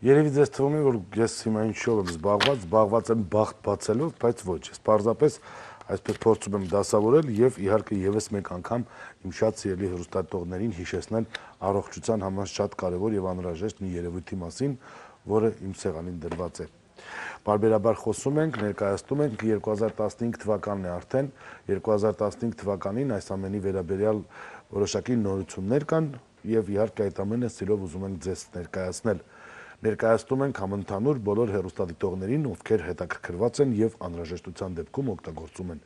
Երևի ձեզ թվում է, որ ես հիմա ինչով եմ զբաղված եմ բախտ բացելով, բայց ոչ, ես պարզապես այսպես փորձում եմ դասավորել եւ իհարկե եւս մեկ անգամ իմ շատ սիրելի հեռուստատողներին հիշեցնել առողջության համար շատ կարեւոր եւ անհրաժեշտ մի երևույթի մասին, որը իմ սեղանին դրված է։ Բարբերաբար խոսում ենք, ներկայացնում ենք 2015 թվականն է արդեն, 2015 թվականին այս ամենի վերաբերյալ որոշակի նորություններ կան եւ իհարկե այդ ամենը սիրով ուզում ենք ձեզ ներկայացնել։ Ներկայացնում ենք համընդհանուր բոլոր հեռուստադիտողներին, ովքեր հետաքրքրված են եւ անհրաժեշտության դեպքում օգտագործում են։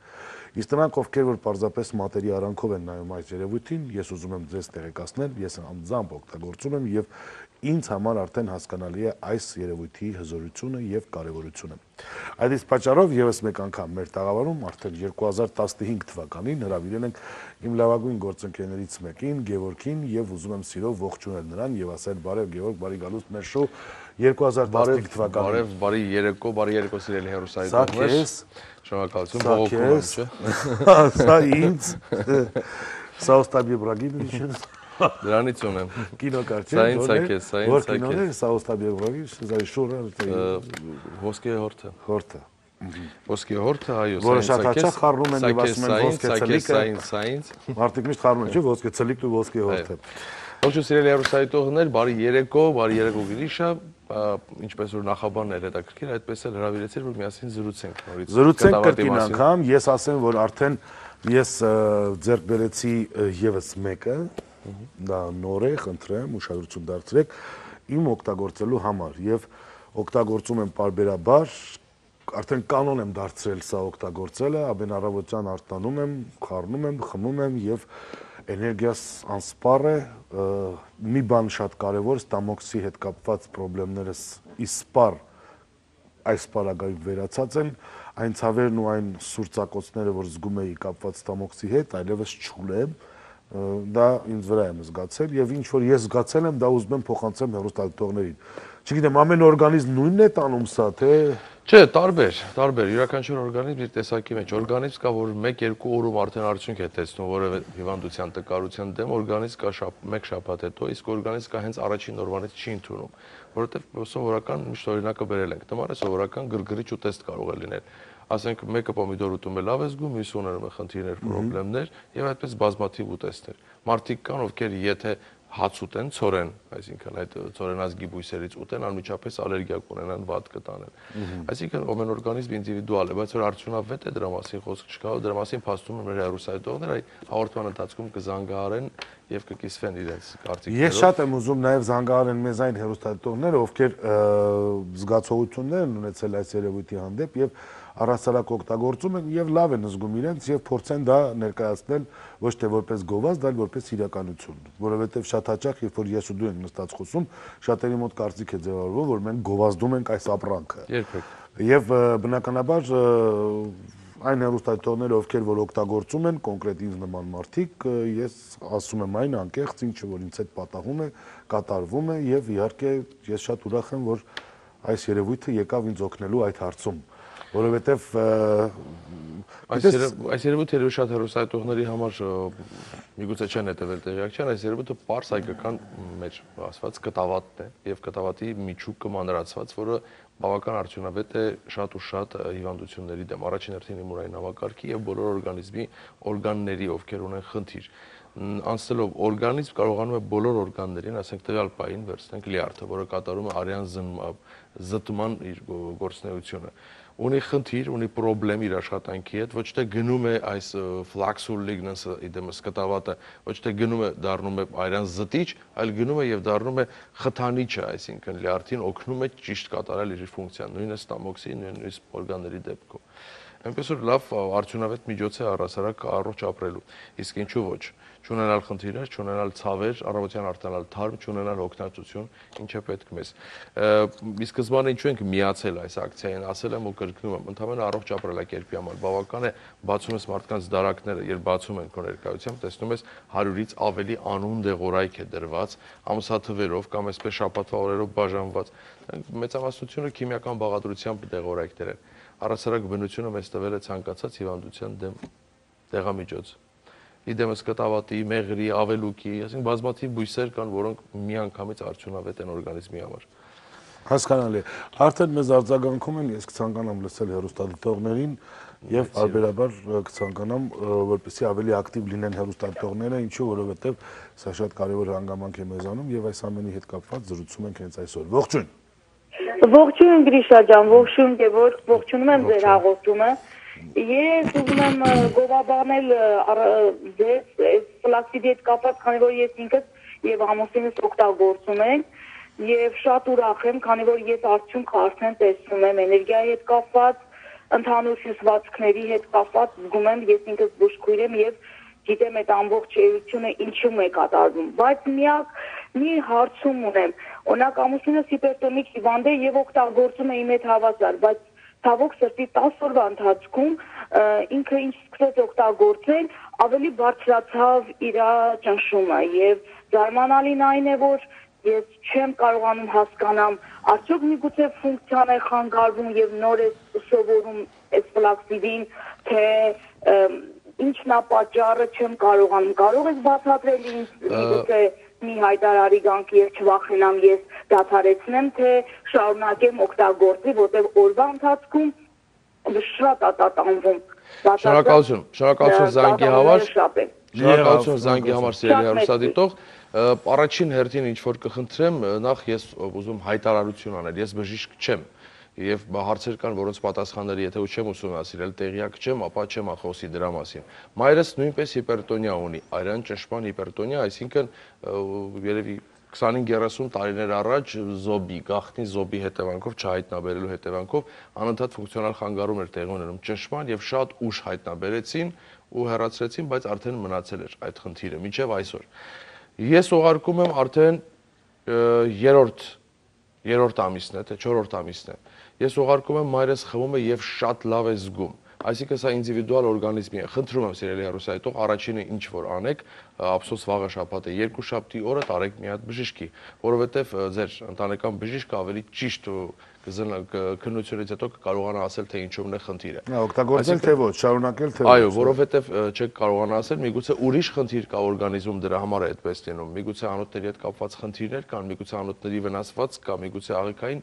Իսկ նրանք, ովքեր որ պարզապես մատերի արանքով են նայում այս երևույթին, ես ուզում եմ ձեզ տեղեկացնել, ես անձամբ օգտագործում եմ եւ ինձ համար արդեն հասկանալի է այս երևույթի հզորությունը եւ կարեւորությունը։ Այդ իսկ պատճառով եւս մեկ անգամ մեր տաղավարում արդեն 2015 թվականին հրավիրել ենք իմ լավագույն գործընկերներից մեկին, Գևորգին, եւ ուզում եմ սիրով ողջունել նրան եւ ասել բարև Գևորգ, բարի գալուստ մեր շոու 2015 թվականին։ Բարի երեկո սիրելի հեռուստադիտողներ։ Շնորհակալություն, բողոքում եմ, չէ՞։ Սա ինձ Սա Օստաբի Բրագիմիչ Դրանից ունեմ։ Կինոկարչի։ Սա ինձ է, սա ինձ է։ Կինոն է, Սա Օստաբի Բրագիմիչ, զայ շուրը Ոսկե հորթը։ Հորթը։ Ոսկե հորթը, այո, որը շատ հաճախ խառնում են եւ ասում են ոսկե ցելիկը։ Սա ինձ։ Մարդիկ միշտ խառնում են, չէ՞, ոսկե ցելիկն ու ոսկե հորթը։ Ողջույն սիրելի հեռուստադիտողներ, բարի երեկո Գրիշա, ինչպես որ նախաբանն էր հետաքրքիր, այդպես էլ հրավիրեցիր, որ միասին զրուցենք նորից։ Զրուցենք կրկին անգամ, ես ասեմ, որ արդեն ես ձեռք բերեցի եւս մեկը, դա նոր է, խնդրեմ, ուշադրություն դարձրեք իմ օգտագործելու համար եւ օգտագործում եմ պարբերաբար, արդեն կանոն եմ դարձրել սա օգտագործելը, ամեն առավոտյան արտանում եմ, խառնում եմ, խմում եմ եւ էներգիաս անսպառ է, մի բան շատ կարևոր, ստամոքսի հետ կապված խնդիրներս իսպառ այս պարագայում վերացած են, այն ցավերն ու այն սուրծակոցները, որ զգում էի կապված ստամոքսի հետ, այլևս չուլեմ, դա ինձ վրա եմ զգացել եւ ինչ որ ես զգացել եմ, դա ուզում եմ փոխանցեմ հեռուստադիտողներին։ Չգիտեմ, ամեն օրգանիզմ նույնն է տանում սա, թե Չէ, տարբեր, յուրաքանչյուր օրգանիզմ իր տեսակի մեջ, օրգանիզմ կա, որ 1-2 օրում արդեն արդյունք է տեսնում որևէ հիվանդության տկարության դեմ, օրգանիզմ կա մեկ շաբաթ հետո, իսկ օրգանիզմ կա հենց առաջին օրվանից չի ընդունում, որովհետև սովորական միշտ օրինակը բերել ենք, դմարը սովորական գրգռիչ ուտեստ կարող է լինել, ասենք մեկը պոմիդոր ուտում է լավ է զգում, մյուսը ունում է խնդիրներ, խնդիրներ եւ այդպես բազմաթիվ ուտեստներ։ Մարդիկ կան, ովքեր եթե հաց ուտեն, ցորեն, այսինքն այդ ցորենազգի բույսերից ուտեն, անմիջապես ալերգիա կունենան, վատ կտանեն։ Այսինքն ամեն օրգանիզմ ինդիվիդուալ է, բայց որ արդյունավետ է դրա մասին խոսք չկա, դրա մասին փաստում են մեր հեռուստադիտողները, այ հաղորդման ընթացքում կզանգահարեն եւ կկիսվեն իրենց կարծիքներով։ Ես շատ եմ ուզում նաեւ զանգահարեն մեզ այն հեռուստադիտողները, ովքեր զգացողություններ են ունեցել այս երևույթի հանդեպ եւ առհասարակ օգտագործում են եւ լավ են զգում իրենց եւ փորձեն դա ներկայացնել ոչ թե որպես գովազդ, այլ որպես իրականություն, որովհետեւ շատ հաճախ երբ որ ես ու դու ենք նստած խոսում, շատերի մոտ կարծիք է ձևավորվում, որ մենք գովազդում ենք այս ապրանքը։ Երբեք։ Եվ բնականաբար այն հեռուստադիտողները, ովքեր որ օգտագործում են կոնկրետ ինձ նման մարդիկ, ես ասում եմ այն անկեղծ, ինչը որ ինձ հետ պատահում է, կատարվում է եւ իհարկե ես շատ ուրախ եմ, որ այս երևույթը եկավ ինձ օգնելու այդ հարցում, որովհետեւ այս երևույթը շատ հեռուստադիտողների համար միգուցե չեն հետևել տեղյակ չեն, այս երևույթը պարզ հայկական մեջ ասված կտավատն է եւ կտավատի միջուկը մանրացված, որը բավական արդյունավետ է շատ ու շատ հիվանդությունների դեմ, առաջին հերթին իմունային համակարգի եւ բոլոր օրգանիզմի օրգանների, ովքեր ունեն խնդիր։ Անցնելով օրգանիզմ կարողանում է բոլոր օրգաններին, ասենք տվյալ պահին վերցնենք լյարդը, որը կատարում է արյան զտման իր գործունեությունը։ Ունի խնդիր, ունի խնդրեմ իր աշխատանքի հետ, ոչ թե գնում է այս ֆլաքսուլ լիգնանսը իդեմս կտավատը, ոչ թե գնում է դառնում է արյան զտիչ, այլ գնում է եւ դառնում է խթանիչը, այսինքն լյարդին օգնում է ճիշտ կատարել իր ֆունկցիան, նույնը ստամոքսի, նույնիսկ օրգանների դեպքում։ Այնպես որ լավ արդյունավետ միջոց է առհասարակ առողջ ապրելու, իսկ ինչու ոչ, չունենալ խնդիրներ, չունենալ ցավեր, առավոտյան արտանալ թարմ, չունենալ հոգնածություն, ինչ է պետք մեզ։ Ի սկզբանե ինչու ենք միացել այս ակցիային, ասել եմ ու կրկնում եմ, ընդհանրապես առողջ ապրելակերպի համար բավական է բացում ես մարդկանց դարակները, երբ բացում են քո ներկայությամբ, տեսնում ես 100-ից ավելի անուն դեղորայք է դրված, ամսաթվերով կամ այսպես շաբաթվա օրերով բաժանված։ Մեծամասնությունը քիմիական բաղադրությամբ դեղորայքներ են։ Առհասարակ բնությունը մեզ տվել է ցանկացած հիվանդության դեմ դեղամիջոց։ Իդեմս կտավատի, մեղրի, ավելուկի, այսինքն բազմաթիվ բույսեր կան, որոնք միանգամից արդյունավետ են օրգանիզմի համար։ Հասկանալի է։ Արդեն մեզ արձագանքում են, ես կցանկանամ լսել հեռուստադիտողներին եւ բարբերաբար կցանկանամ, որպեսզի ավելի ակտիվ լինեն հեռուստադիտողները, ինչու, որովհետեւ սա շատ կարեւոր հանգամանք է մեզանում եւ այս ամենի հետ կապված զրուցում ենք հենց այսօր։ Ողջույն։ Ողջույն Գրիշա ջան, ողջույն Գևորգ, ողջունում եմ ձեր հաղորդումը։ Ես ուզում եմ գովաբանել ձեզ այս ֆլաքսիդի հետ կապված, քանի որ ես ինքս եւ ամուսինս օգտագործում ենք եւ շատ ուրախ եմ, քանի որ ես արդյունքը արդեն տեսնում եմ էներգիայի հետ կապված, ընդհանուր հյուսվածքների հետ կապված, զգում եմ, ես ինքս բուժքույր եմ եւ գիտեմ այդ ամբողջ էությունը ինչու է կատարվում, բայց մի հարցում ունեմ, օրինակ ամուսինս հիպերտոնիկ հիվանդ է եւ օգտագործում է իմ հետ հավասար, բայց ցավոք սրտի 10 օրվա ընթացքում ինքը ինչ սկսեց օգտագործել, ավելի բարձրացավ իր ճնշումը եւ զարմանալին այն է, որ ես չեմ կարողանում հասկանամ, արդյոք միգուցե ֆունկցիան է խանգարվում եւ նոր է սովորում այս ֆլաքսիդին, թե ինչն է պատճառը, չեմ կարողանում, կարող եք բացատրել ինձ, միգուցե մի հայտարարի գանք եւ չվախենամ ես դադարեցնեմ, թե շարունակեմ օգտագործի, որտեղ օրվա ընթացքում շատ ատատանվում։ Շնորհակալություն զանգի համար։ Շնորհակալություն զանգի համար, սիրելի հեռուստադիտող։ Առաջին հերթին ինչ որ կխնդրեմ, նախ ես ուզում հայտարարություն անել, ես բժիշկ չեմ եւ հարցեր կան, որոնց պատասխանները եթե չեմ ուսումնասիրել, տեղյակ չեմ, ապա չեմ խոսի դրա մասին։ Մայրս նույնպես հիպերտոնիա ունի, արյան ճնշման հիպերտոնիա, այսինքն երևի 25-30 տարիներ առաջ զոբի, գաղտնի զոբի հետևանքով, չհայտնաբերելու հետևանքով անընդհատ ֆունկցիոնալ խանգարում էր տեղի ունենում ճնշման եւ շատ ուշ հայտնաբերեցին ու հեռացրեցին, բայց արդեն մնացել էր այդ խնդիրը մինչեւ այսօր։ Ես ուղարկում եմ արդեն երրորդ ամիսն է, թե 4-րդ ամիսն է։ Ես ուղարկում եմ, մայրս խմում է եւ շատ լավ է զգում։ Այսինքն սա ինդիվիդուալ օրգանիզմի է։ Խնդրում եմ սիրելի հեռուստադիտող, առաջինը ինչ որ անեք, ափսոս վաղը շաբաթ է, երկուշաբթի օրը տարեք մի հատ բժշկի, որովհետեւ ձեր ընտանեկան բժիշկը ավելի ճիշտ ու քննությունից հետո կկարողանա ասել, թե ինչումն է խնդիրը։ Օգտագործել թե ոչ, շարունակել թե ոչ։ Այո, որովհետեւ չեք կարողանա ասել, միգուցե ուրիշ խնդիր կա օրգանիզմում, դրա համար է այդպես լինում։ Միգուցե անոթների հետ կապված խնդիրներ կան, միգուցե անոթների վնասված կա, միգուցե աղիքային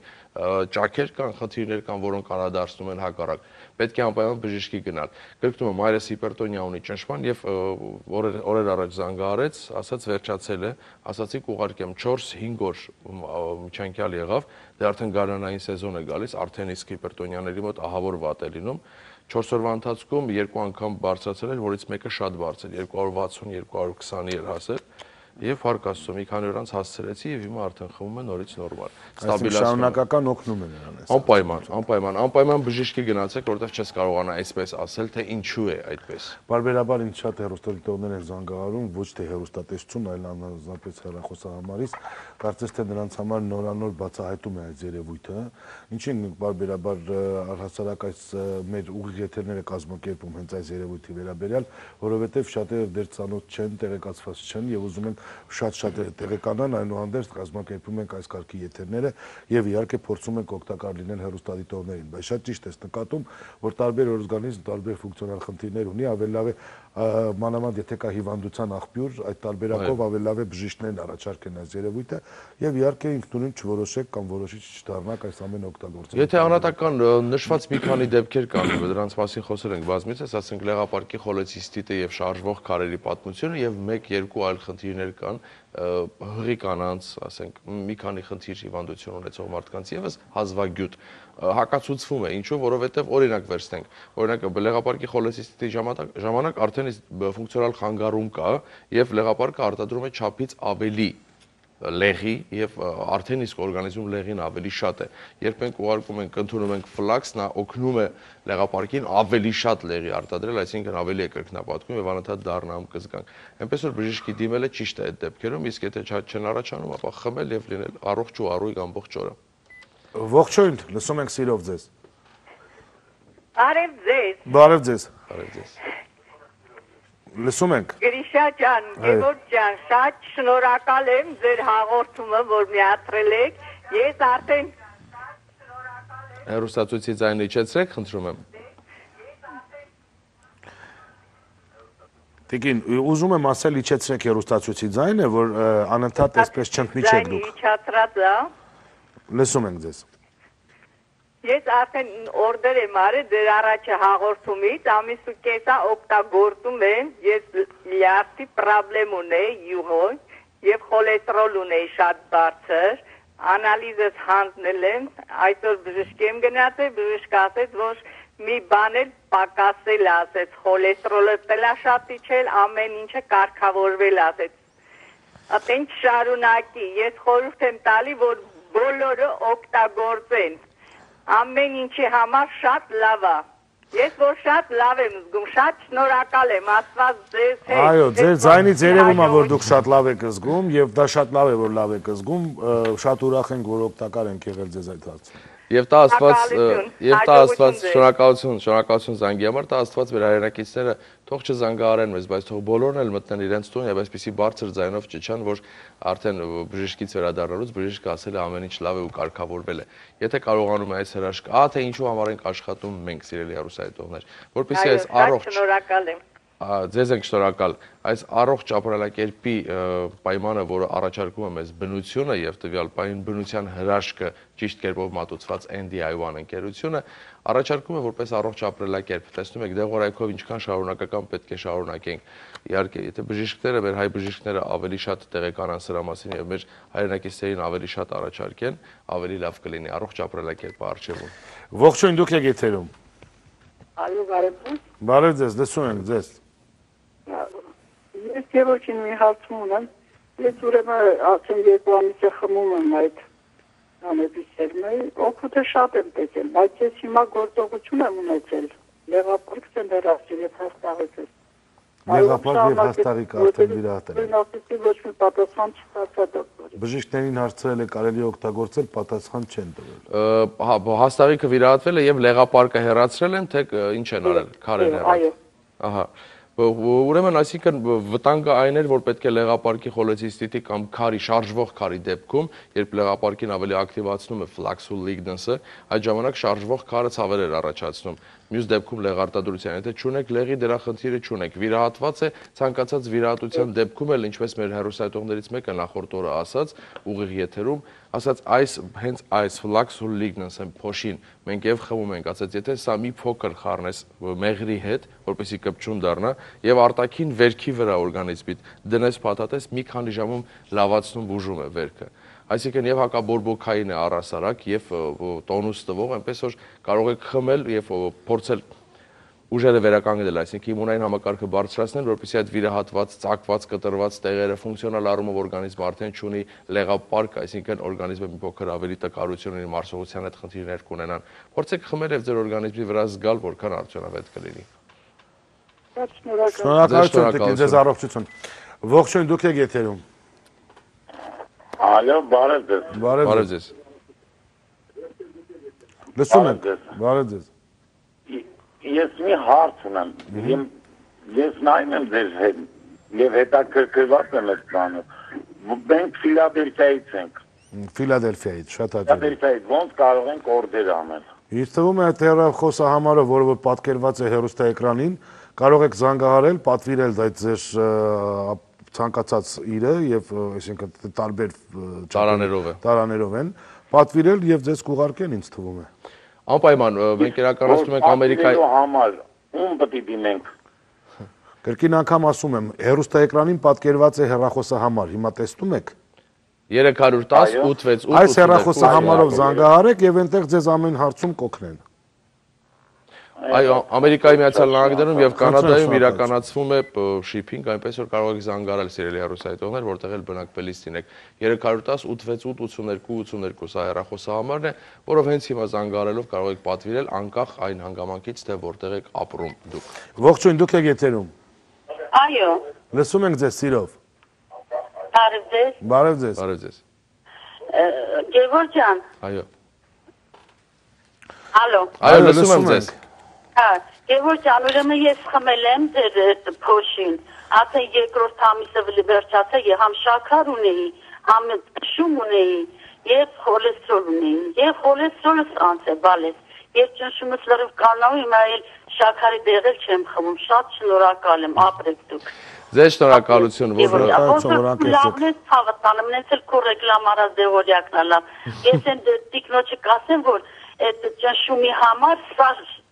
ճաքեր կան, խնդիրներ կան, որոնք անդրադառնում են հակառակ։ Պետք է անպայման բժշկի գնալ։ Կրկնում եմ, մայրս հիպերտոնիա ունի ճնշման եւ օրեր առաջ զանգահարեց, ասաց վերջացել է, ասացի կուղարկեմ 4-5 օր միջանկյալ եղավ, դե արդեն գարնանային սեզոն է գալիս, արդեն իսկ հիպերտոնիաների մոտ ահավոր վատ է լինում։ 4 օրվա ընթացքում 2 անգամ բարձրացել էր, որից մեկը շատ բարձր, 260-220-ի էր հասել։ Եվ հարկ Աստծո, մի քանի օր անց հասցրեցի եւ հիմա արդեն խմում է նորից նորմալ։ Շարունակական օգնում է նրան այս։ Անպայման բժշկի գնացեք, որովհետեւ չես կարողանա այսպես ասել, թե ինչու է այդպես։ Բարբերաբար ինձ շատ հեռուստադիտողներ են զանգահարում, ոչ թե հեռուստատեսություն, այլ անձնապես հեռախոսահամարից, կարծես թե նրանց համար նորանոր բացահայտում է այս երևույթը, ինչին բարբերաբար առհասարակ այս մեր ուղիղ եթերները կազմակերպում հենց այս երևույթի վերաբերյալ, որովհետեւ շատերը դեռ ծանոթ չեն, տեղեկացված չեն եւ ուզում են շատ տեղեկանան, այնուհանդերձ կազմակերպում ենք այս կարգի եթերները եւ իհարկե փորձում ենք օգտակար լինել հեռուստադիտողներին, բայց շատ ճիշտ ես նկատում, որ տարբեր օրգանիզմ տարբեր ֆունկցիոնալ խնդիրներ ունի, ավելի լավ է մանավանդ եթե կա հիվանդության աղբյուր, այդ տարբերակով ավելի լավ է բժիշկներն առաջարկեն այս երևույթը եւ իհարկե ինքնուրույն չորոշեք կամ որոշիչ չդառնաք այս ամենը օգտագործել։ Եթե անհատական նշված մի քանի դեպքեր կան, դրանց մասին խոսել ենք բազմիցս, ասենք լեղապարկի խոլեցիստիտը եւ շարժվող քարերի պատմությունը եւ 1-2 այլ խնդիրներ կան, հղի կանանց, ասենք մի քանի խնդիր հիվանդություն ունեցող մարդկանց եւս հազվագյուտ հակացուցվում է, ինչու, որովհետեւ օրինակ վերցնենք, օրինակ լեղապարկի խոլեցիստիտի ժամանակ արդեն ֆունկցիոնալ խանգարում կա եւ լեղապարկը արտադրում է չափից ավելի լեղի եւ արդեն իսկ օրգանիզմում լեղին ավելի շատ է։ Երբ մենք ուղարկում ենք, ընդունում ենք ֆլաքս, նա օգնում է լեղապարկին ավելի շատ լեղի արտադրել, այսինքն ավելի է կրկնապատկում եւ անընդհատ դառնամ կզգանք։ Այնպես որ բժիշկի դիմելը ճիշտ է այդ դեպքերում, իսկ եթե չեն առաջանում, ապա խմել եւ լինել առողջ ու առույգ ամբողջ օրը։ Ողջույն, լսում ենք սիրով ձեզ։ Արև ձեզ։ Բարև ձեզ։ Բարև ձեզ։ Լսում ենք։ Գրիշա ջան, Գևորգ ջան, շատ շնորհակալ եմ ձեր հաղորդումը, որ միացրել եք։ Ես արդեն Հեռուստացույցի ձայնը իջեցրեք, խնդրում եմ։ Տիկին, ուզում եմ ասել իջեցրեք հեռուստացույցի ձայնը, որ անընդհատ այսպես չընդմիջեք դուք։ Իջացրած է։ Լսում ենք ձեզ։ Ես արդեն օրդեր եմ արել ձեր առաջը հաղորդումից, ամիս ու կեսա օգտագործում եմ, ես լյարդի պրոբլեմ ունեի յուղոն եւ խոլեստերոլ ունեի շատ բարձր, անալիզս հանձնել եմ, այսօր բժշկի եմ գնացել, բժիշկը ասեց, որ մի բան էլ պակասել ասեց, խոլեստերոլը տելա շատ իջել, ամեն ինչը կարգավորվել ասեց։ Atենք շարունակի, ես խորհուրդ եմ տալի, որ բոլորը օգտագործեն։ Ամեն ինչի համար շատ լավ է։ Ես որ շատ լավ եմ զգում, շատ շնորհակալ եմ, Աստված ձեզ հետ։ Այո, ձեր ձայնից երևում է, որ դուք շատ լավ եք զգում եւ դա շատ լավ է, որ լավ եք զգում, շատ ուրախ ենք, որ օգտակար ենք եղել ձեզ այդ հարցում։ Եվ դա Աստված, շնորհակալություն զանգի համար, դա Աստված մեր հայրենակիցները թող չզանգահարեն մեզ, բայց թող բոլորն էլ մտնեն իրենց տուն եւ այսպեսի բարձր ձայնով ճչան, որ արդեն բժշկից վերադառնալուց բժիշկը ասել է ամեն ինչ լավ է ու կարգավորվել է։ Եթե կարողանում է այս հրաշքը, թե ինչու համար ենք աշխատում մենք, սիրելի հեռուստադիտողներ, որպեսզի այս առողջ շնորհակալ եմ։ Ձեզ ենք շնորհակալ այս առողջ ապրելակերպի պայմանը, որը առաջարկում է մեզ բնությունը եւ տվյալ պահին բնության հրաշքը ճիշտ կերպով մատուցված NDI1 ընկերությունը առաջարկում է որպես առողջ ապրելակերպ։ Տեսնում եք դեղորայքով ինչքան շարունակական պետք է շարունակենք։ Իհարկե, եթե բժիշկները, մեր հայ բժիշկները ավելի շատ տեղեկանան սրա մասին եւ մեր հայրենակիցներին ավելի շատ առաջարկեն, ավելի լավ կլինի առողջ ապրելակերպը արժևում։ Ողջույն, դուք եք եթերում։ Ալո, բարև։ Բարև ձեզ, լսում ենք ձեզ։ Ես երոքին մի հարցում ունեմ, ես ուրեմն ասեմ երկու ամիս է խմում եմ այդ անեպիսերմը, օգուտը շատ եմ տեսել, բայց ես հիմա գործողություն եմ ունեցել, լեղապարքս եմ հեռացել և հաստաղից ես։ Լեղապարք և հաստաղիկ արդեն վիրահատել են։ Ասեցի ոչ մի պատասխան չստացա դոկտորի։ Բժիշկներին հարցրել է կարելի օգտագործել, պատասխան չեն տվել։ Հաստաղիքը վիրահատվել է եւ լեղապարկը հեռացրել են, թե ինչ են արել, քար են հեռացել։ Այո։ Ահա։ Ուրեմն, այսինքն վտանգը այն էր, որ պետք է լեղապարկի խոլեցիստիտի կամ քարի, շարժվող քարի դեպքում, երբ լեղապարկին ավելի ակտիվացնում է ֆլաքսուլ լիգնենսը, այդ ժամանակ շարժվող քարը ցավեր էր առաջացնում։ Մյուս դեպքում լեղարտադրության, եթե չունեք լեղի դրա խնդիրը չունեք, վիրահատված է, ցանկացած վիրահատության դեպքում էլ, ինչպես մեր հեռուստադիտողներից մեկը նախորդ օրը ասաց, ուղիղ եթերում, ասաց հենց այս ֆլաքսուլ լիգնենսը փոշին մենք եւ խմում ենք, ասաց եթե սա մի փոքր խառնես մեղրի հետ, որպեսզի կպչուն դառնա եւ արտաքին վերքի վրա օրգանիզմիդ դնես փաթաթես մի քանի ժամում լավացնում բուժում է վերքը։ Այսինքն եւ հակաբորբոքային է առհասարակ եւ տոնուս տվող, այնպես որ կարող եք խմել եւ փորձել ուժերը վերականգնել, այսինքն իմունային համակարգը բարձրացնել, որպեսզի այդ վիրահատված, ծակված, կտրված տեղերը ֆունկցիոնալ առումով օրգանիզմը արդեն չունի լեղապարկ, այսինքն օրգանիզմը մի փոքր ավելի տկարություն ունի, մարսողության հետ խնդիրներ կունենան։ Փորձեք խմել եւ ձեր օրգանիզմի վրա զգալ, որքան արդյունավետ կլինի։ Շնորհակալություն, ձեզ առողջություն։ Ողջույն, դուք եք եթերում։ Ալո, բարև ձեզ։ Բարև ձեզ։ Լսում ենք։ Բարև ձեզ։ Ես մի հարց ունեմ։ Ես նայում եմ ձեր հետ եւ հետաքրքրված եմ այդ բանը։ Մենք Ֆիլադելֆիայից ենք։ Ֆիլադելֆիայից, շատ հաճելի։ Ֆիլադելֆիայից ոնց կարող ենք օրդեր անել։ Ինձ թվում է այդ հեռախոսահամարը, որը պատկերված է հեռուստաէկրանին, կարող եք զանգահարել, պատվիրել այդ ձեր ցանկացած իրը եւ այսինքն տարբեր տարաներով են, պատվիրել եւ ձեզ կուղարկեն, ինձ թվում է։ Անպայման, մենք իրականացնում ենք Ամերիկայի համար, ում պետք է դիմենք։ Կրկին անգամ ասում եմ, հեռուստաէկրանին պատկերված է հեռախոսահամար, հիմա տեսնում եք։ 310 868 Այս հեռախոսահամարով զանգահարեք եւ այնտեղ ձեզ ամեն հարցում կօգնեն։ Այո, Ամերիկայի Միացյալ Նահանգներում եւ Կանադայում իրականացվում է շիփինգ, այնպես որ կարող եք զանգահարել սիրելի հեռուստադիտողներ, որտեղ էլ բնակվելիս լինեք։ 310 868 82 սա հեռախոսահամարն է, որով հենց հիմա զանգահարելով կարող եք պատվիրել անկախ այն հանգամանքից, թե որտեղ եք ապրում դուք։ Ողջույն, դուք եք եթերում։ Այո։ Լսում ենք ձեզ սիրով։ Բարև ձեզ։ Բարև ձեզ։ Բարև ձեզ։ Գևորգ ջան։ Այո։ Ալո։ Այո, լսում եմ ձեզ։ Գևորգ ջան, ուրեմն ես խմել եմ ձեր փոշին, ասեն երկրորդ ամիսը վերջացա եւ համ շաքար ունեի, համ շում ունեի եւ խոլեստերոլ ունեի, եւ խոլեստերոլս անց է բալես։ Ես ճնշումս լրիվ կանալ, հիմա էլ շաքարի դեղել չեմ խմում, շատ շնորհակալ եմ, ապրեք դուք։ Ձեզ շնորհակալություն, որ լավն է ցավտանը, մնաց էլ քո ռեկլամարա դեորիակն է լավ։ Ես այն տիկնոջը կասեմ, որ այդ ճնշումի համար սա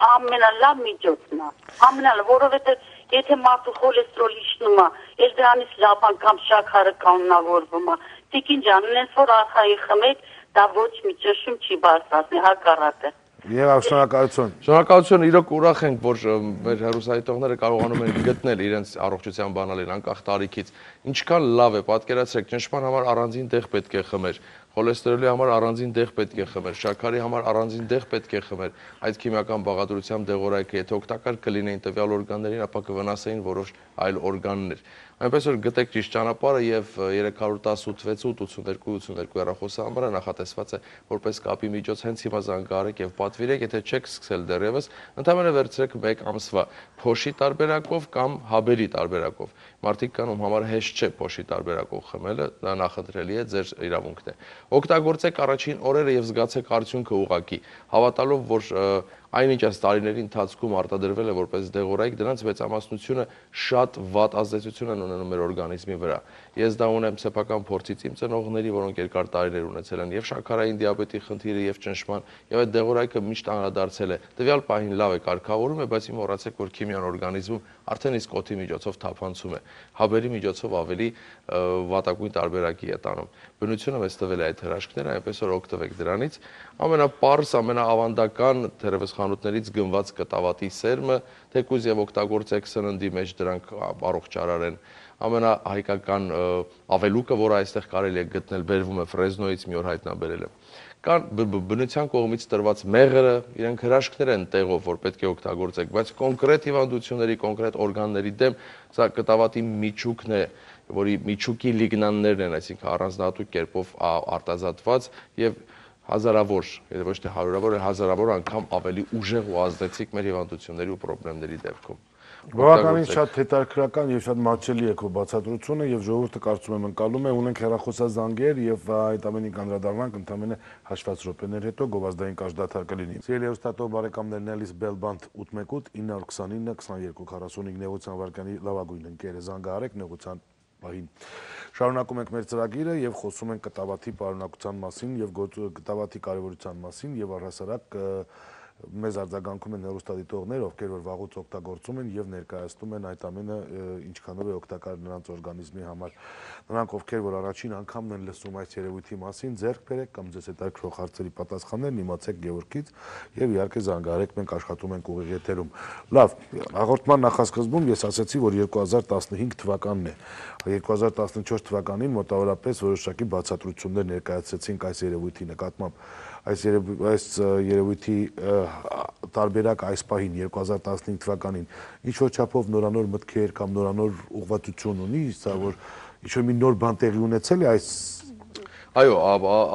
ամենալավ միջոցն է։ Ամենալավ, որովհետև եթե մարդու խոլեստերոլը իջնում է, էլ դրանից լավ անգամ շաքարը կանոնավորվում է։ Տիկին ջան, ունես որ արխայի խմեք, դա ոչ մի ճնշում չի բարձրացնի, հակառակը։ Եվ շնորհակալություն։ Շնորհակալություն, իրոք ուրախ ենք, որ մեր հեռուստադիտողները կարողանում են գտնել իրենց առողջության բանալին անկախ տարիքից։ Ինչքան լավ է, պատկերացրեք, ճնշման համար առանձին տեղ պետք է խմեր, խոլեստերոլի համար առանձին տեղ պետք է խմեր, շաքարի համար առանձին տեղ պետք է խմեր։ Այդ քիմիական բաղադրությամբ դեղորայքը եթե օգտակար կլինեին տվյալ օրգաններին, ապա կվնասեին որոշ այլ օրգաններ։ Այնպես որ գտեք ճիշտ ճանապարհը եւ 318-88-82 հեռախոսահամարը նախատեսված է որպես կապի միջոց հենց հիմա զանգահարեք եւ պատվիրեք, եթե չեք սկսել դեռևս, ընդհանրապես վերցրեք 1 ամսվա փոշի տարբերակով կամ հաբերի տարբերակով։ Մարդիկ կան, ում համար հեշտ չէ փոշի տարբերակով խմելը, դա նախընտրելի է, ձեր իրավունքն է։ Օգտագործեք առաջին օրերը եւ զգացեք արդյունքը ուղղակի, հավատալով, որ այնինչ այս տարիների ընթացքում արտադրվել է որպես դեղորայք, դրանց մեծամասնությունը շատ վատ ազդեցություն են ունենում մեր օրգանիզմի վրա։ Ես դա ունեմ սեփական փորձից իմ ծնողների, որոնք երկար տարիներ ունեցել են եւ շաքարային դիաբետի խնդիրը եւ ճնշման, եւ այդ դեղորայքը միշտ անդրադարձել է։ Տվյալ պահին լավ է կարգավորում է, բայց մոռացեք, որ քիմիան օրգանիզմում արդեն իսկ օդի միջոցով թափանցում է։ Հաբերի միջոցով ավելի վատագույն տարբերակի է տանում։ Բնությունը մեզ տվել է այդ հրաշքները, այնպես որ օգտվեք դրանից։ Ամենապարզ, ամենաավանդական թերևս խանութներից գնված կտավատի սերմը, թեկուզ եւ օգտագործեք սննդի մեջ դրանք առողջարար են։ Ամենահայկական ավելուկը, որը այստեղ կարելի է գտնել, բերվում է Ֆրեզնոյից, մի օր հայտնաբերել է։ Կան բնության կողմից տրված մեղրը, իրենք հրաշքներ են տեղով, որ պետք է օգտագործեք, բայց կոնկրետ հիվանդությունների, կոնկրետ օրգանների դեմ սա կտավատի միջուկն է, որի միջուկի լիգնաններն են, այսինքն առանձնահատուկ կերպով արտազատված եւ հազարավոր, եթե ոչ թե հարյուրավոր, հազարավոր անգամ ավելի ուժեղ ու ազդեցիկ մեր հիվանդությունների ու խնդիրների դեպքում։ Բավականին շատ հետաքրքրական եւ շատ մատչելի է քո բացատրությունը եւ ժողովուրդը կարծում եմ ընկալում է, ունենք հեռախոսազանգեր եւ այդ ամենին կանդրադառնանք ընդամենը հաշված րոպեներ հետո գովազդային կարճ դադար կլինի։ Սիրելի հեռուստատող բարեկամներ, Նելիս Բելբանդ 818 929 2245 նեղության վարկանի լավագույն ընկերը զանգահարեք նեղության պահին։ Շարունակում ենք մեր ծրագիրը եւ խոսում ենք կտավաթի պարունակության մասին եւ կտավաթի կարեւորության մասին եւ առհասարակ մեզ արձագանքում են հեռուստադիտողներ, ովքեր որ վաղուց օգտագործում են եւ ներկայացնում են այդ ամենը ինչքանով է օգտակար նրանց օրգանիզմի համար։ Նրանք, ովքեր որ առաջին անգամն են լսում այս երևույթի մասին, ձեռք բերեք կամ ձեզ հետաքրքրող հարցերի պատասխաններն իմացեք Գևորգից եւ իհարկե զանգահարեք, մենք աշխատում ենք ուղիղ եթերում։ Լավ, հաղորդման նախասկզբում ես ասացի, որ 2015 թվականն է։ 2014 թվականին մոտավորապես որոշակի բացատրություններ ներկայացրեցինք այս երևույթի նկատմամբ։ Այս երևույթի տարբերակ այս պահին 2015 թվականին ինչ-որ չափով նորանոր մտքեր կամ նորանոր ուղղվածություն ունի, սա որ ինչ-որ մի նոր բան տեղի ունեցել է այս Այո,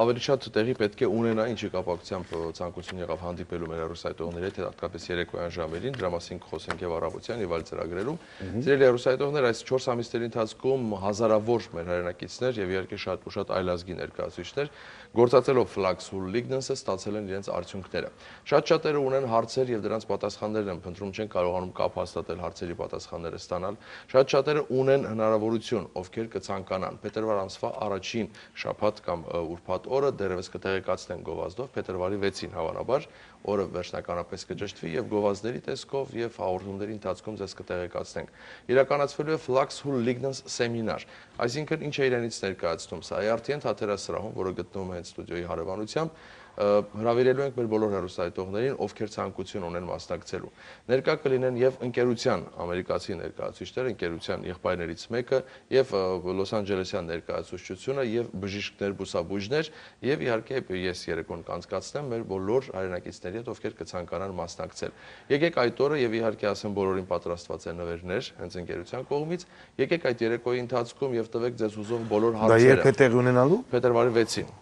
ավելի շատ տեղի պետք է ունենա, ինչի կապակցությամբ ցանկություն եղավ հանդիպելու մեր հեռուստադիտողների հետ, հատկապես երեկոյան ժամերին, դրա մասին կխոսենք եւ առավոտյան եւ այլ ծրագրերում։ Սիրելի հեռուստադիտողներ, այս 4 ամիսների ընթացքում հազարավոր մեր հայրենակիցներ եւ իհարկե շատ ու շատ այլազգի ներկայացուցիչներ գործածելով Flaxhul Lignans-ը ստացել են իրենց արդյունքները։ Շատ-շատերը ունեն հարցեր եւ դրանց պատասխաններն են փնտրում, չեն կարողանում կապ հաստատել հարցերի պատասխանները ստանալ։ Շատ-շատերը ունեն հնարավորություն, ովքեր կցանկանան փետրվար ամսվա առաջին շաբաթ կամ ուրբաթ օրը դերևս կտեղեկացնեն գովազդով փետրվարի 6-ին հավանաբար օրը վերջնականապես կճշտվի եւ գովազդների տեսքով եւ հաղորդումների ընթացքում ձեզ կտեղեկացնենք։ Իրականացվելու է Flaxhul Lignans սեմինար, այսինքն ինչ է իրենից ներկայացնում սա ARTN թատերասրահում, որը գտնվում է հենց ստուդիոյի հարևանությամբ, հրավիրելու ենք մեր բոլոր հեռուստադիտողներին, ովքեր ցանկություն ունեն մասնակցելու։ Ներկա կլինեն եւ ընկերության ամերիկացի ներկայացուցիչներ, ընկերության եղբայրներից մեկը եւ Լոս Անջելեսյան ներկայացուցչությունը եւ բժիշկներ, բուսաբույժներ եւ իհարկե ես երեկոն կանցկացնեմ մեր բոլոր հայրենակիցների հետ, ովքեր կցանկանան մասնակցել։ Եկեք այդ օրը եւ իհարկե ասեմ բոլորին պատրաստված են նվերներ հենց ընկերության կողմից։ Եկեք այդ երեկոյի ընթացքում եւ տվեք ձեզ ուզող բոլոր հարցերը։ Դա երբ է տեղի ունենալու։ Փետրվարի 6-ին։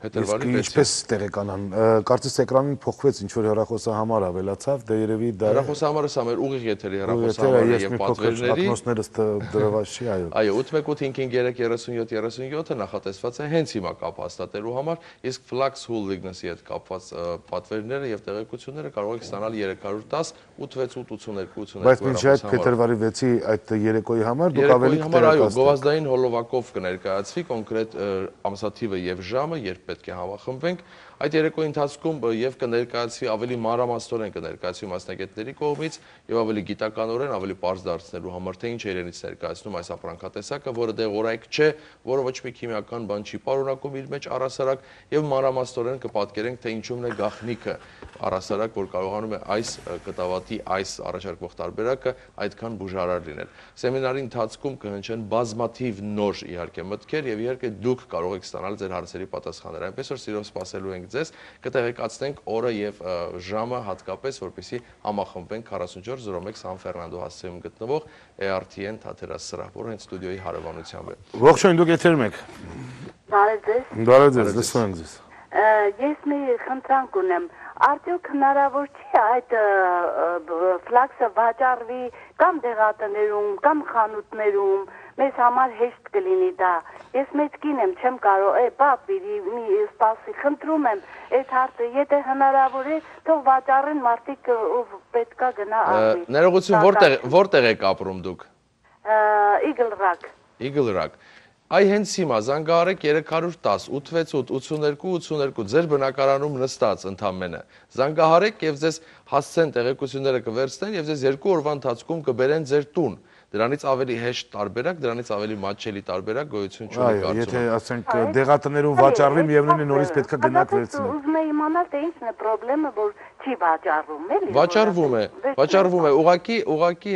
Փետրվարի Իսկ 6-ին։ ինչպես տեղեկանան, կարծես էկրանին փոխվեց ինչ որ հեռախոսահամար ավելացավ, դե երևի դա Հեռախոսահամարը սա մեր ուղիղ եթերի հեռախոսահամարը եւ պատվերների ակնոցներս դրված չի, այո։ Այո, 818533737-ը նախատեսված է հենց հիմա կապ հաստատելու համար, իսկ Flux Holdings-ի հետ կապված պատվերները եւ տեղեկությունները կարող եք ստանալ 310 8688282 Բայց մինչ այդ փետրվարի 6-ի այդ երեկոյի համար դուք ավելի այո, գովազդային հոլովակով կներկայացվի կոնկրետ ամսաթիվը եւ ժամը, երբ պետք է համախմբվենք։ Այդ երեկոյի ընթացքում եւ կներկայացվի ավելի մանրամասնորեն կներկայացվի մասնագետների կողմից եւ ավելի գիտականորեն, ավելի པարզ դարձնելու համար թե ինչ է իրենից ներկայացնում այս ապրանքատեսակը, որը դեղորայք չէ, որը ոչ մի քիմիական բան չի պարունակում իր մեջ առհասարակ եւ մանրամասնորեն կպատկերենք թե ինչումն է գաղտնիքը առհասարակ, որ կարողանում է այս կտավատի այս առաջարկվող տարբերակը այդքան բուժարար լինել։ Սեմինարի ընթացքում կհնչեն բազմաթիվ նոր իհարկե մտքեր եւ իհարկե դուք կարող եք ստանալ ձեր հարցերի պատասխանները։ Այնպես որ սիրով սպասելու ենք ձեզ, կտեղեկացնենք օրը եւ ժամը հատկապես, որպեսզի համախմբվենք 4401 Սան Ֆերնանդո հասցեում գտնվող ARTN թատերասրահ, որը հենց ստուդիոյի հարևանությամբ է։ Ողջույն, դուք եթերում եք։ Բարև ձեզ։ Բարև ձեզ, լսում ենք ձեզ։ Ես մի խնդրանք ունեմ, արդյոք հնարավոր չի այդ ֆլաքսը վաճառվի կամ դեղատներում, կամ խանութներում, մեզ համար հեշտ կլինի դա։ Ես մեծ կին եմ, չեմ կարող, բապ, մի սպասի, խնդրում եմ, այդ հարցը, եթե հնարավոր է, թող վաճառեն մարդիկ պետքա գնա արվի։ Ներողություն, որտեղ եք ապրում դուք։ Eagle Rock։ Eagle Rock։ Այ հենց հիմա զանգահարեք 310 868 82 82 ձեր բնակարանում նստած ընդամենը զանգահարեք եւ ձեզ հասցեն տեղեկությունները կվերցնեն եւ ձեզ 2 օրվա ընթացքում կբերեն ձեր տուն դրանից ավելի հեշտ տարբերակ դրանից ավելի մատչելի տարբերակ գոյություն չունի կարծում։ Այո, եթե ասենք դեղատներում վաճառվի, միևնույն է նորից պետք է գնաք վերցնեք։ Ուզում եմ իմանալ թե ինչն է խնդրեմը, որ չի վաճառվում, էլի։ Վաճառվում է, ուղղակի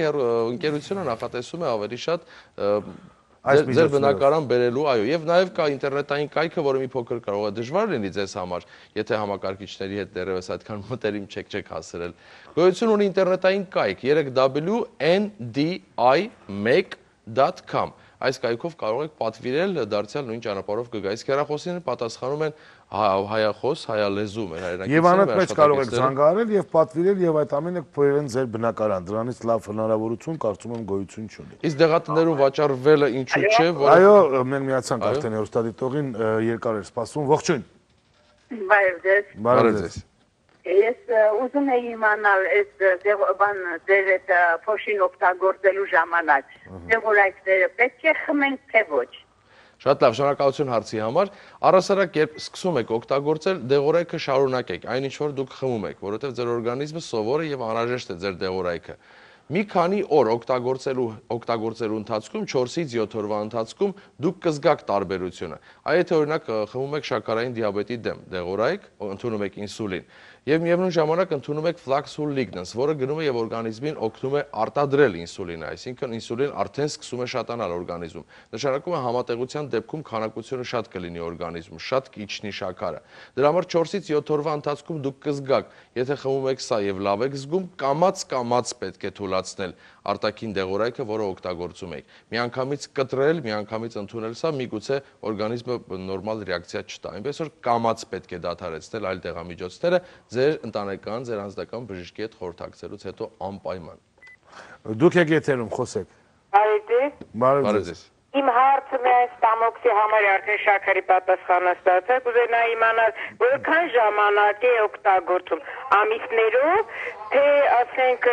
ընկերությունը նախատեսում է ավելի շատ ձեր բնակարան բերելու, այո, եւ նաեւ կա ինտերնետային կայքը, որը մի փոքր կարող է դժվար լինի ձեզ համար, եթե համակարգիչների հետ դեռևս այդքան մտերիմ չեք հասցրել։ Գոյություն ունի ինտերնետային կայք 3w.ndi1.com Այս կայքով կարող եք պատվիրել դարձյալ նույն ճանապարհով կգա։ Իսկ հեռախոսին պատասխանում են հայախոս, հայալեզու մեր հայրենակիցները։ Եվ անընդմեջ կարող եք զանգահարել եւ պատվիրել եւ այդ ամենը կփոխեն ձեր բնակարան։ Դրանից լավ հնարավորություն կարծում եմ գոյություն չունի։ Իսկ դեղատներում վաճառվելը ինչու՞ չէ, որ Այո, մենք միացանք արդեն հեռուստադիտողին, երկար էր սպասում։ Ողջույն։ Բարև ձեզ։ Բարև ձեզ։ Ես ուզում եի իմանալ այս ձեր այդ փոշին օգտագործելու ժամանակ դեղորայքները պետք է խմենք թե ոչ։ Շատ լավ, շնորհակալություն հարցի համար։ Առհասարակ երբ սկսում եք օգտագործել, դեղորայքը շարունակեք, այն ինչ որ դուք խմում եք, որովհետև ձեր օրգանիզմը սովոր է եւ անհրաժեշտ է ձեր դեղորայքը։ Մի քանի օր օգտագործելու ընթացքում 4-ից 7 օրվա ընթացքում դուք կզգաք տարբերությունը։ Այ եթե օրինակ խմում եք շաքարային դիաբետի դեմ դեղորայք, ընդունում եք ինսուլին, եւ միևնույն ժամանակ ընդունում եք Flaxul Lignans, որը գնում է եւ օրգանիզմին օգնում է արտադրել ինսուլինը, այսինքն ինսուլին արդեն սկսում է շատանալ օրգանիզմում։ Նշանակում է համատեղության դեպքում քանակությունը շատ կլինի օրգանիզմում, շատ կիջնի շաքարը։ Դրա համար 4-ից 7 օրվա ընթացքում դուք կզգաք, եթե խմում եք սա եւ լավ եք զգում, կամաց պետք է թույլատրել արտաքին դեղորայքը, որը օգտագործում եք։ Միանգամից կտրել, միանգամից ընդունել սա, միգուցե օրգանիզմը նորմալ ռեակցիա չտա։ Այնպես որ կամաց պետք է դադարեցնել այլ դեղամիջոցները ձեր ընտանեկան, ձեր անձնական բժշկի հետ խորհրդակցելուց հետո անպայման։ Դուք եք եթերում, խոսեք։ Բարև ձեզ։ Իմ հարցը միայն ստամոքսի համար արդեն շաքարի պատասխանը ստացա, կուզենայի իմանալ, որքան ժամանակ է օգտագործում, ամիսներով, թե ասենք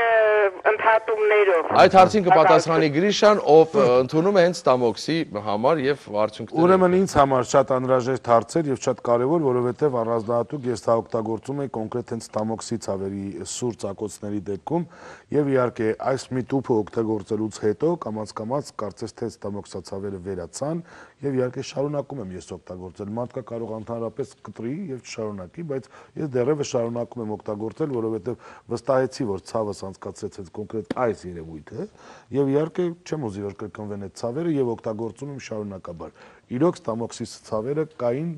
ընդհատումներով։ Այդ հարցին կպատասխանի Գրիշան, ով ընդունում է հենց ստամոքսի համար եւ արդյունքները։ Ուրեմն ինձ համար շատ անհրաժեշտ հարց էր եւ շատ կարեւոր, որովհետեւ առանձնահատուկ ես դա օգտագործում եմ կոնկրետ հենց ստամոքսի ցավերի սուր ծակոցների դեպքում եւ իհարկե այս մի տուփը օգտագործելուց հետո կամաց կարծես թե ստամոքսացավերը վերացան եւ իհարկե շարունակում եմ ես օգտագործել։ Մարդկա կարող ընդհանրապես կտրի եւ չշարունակի, բայց ես դեռևս շարունակում եմ օգտագործել, որովհետեւ վստահեցի, որ ցավս անցկացրեց հենց կոնկրետ այս երևույթը եւ իհարկե չեմ ուզի որ կրկնվեն այդ ցավերը եւ օգտագործում եմ շարունակաբար։ Իրոք ստամոքսի ցավերը կային,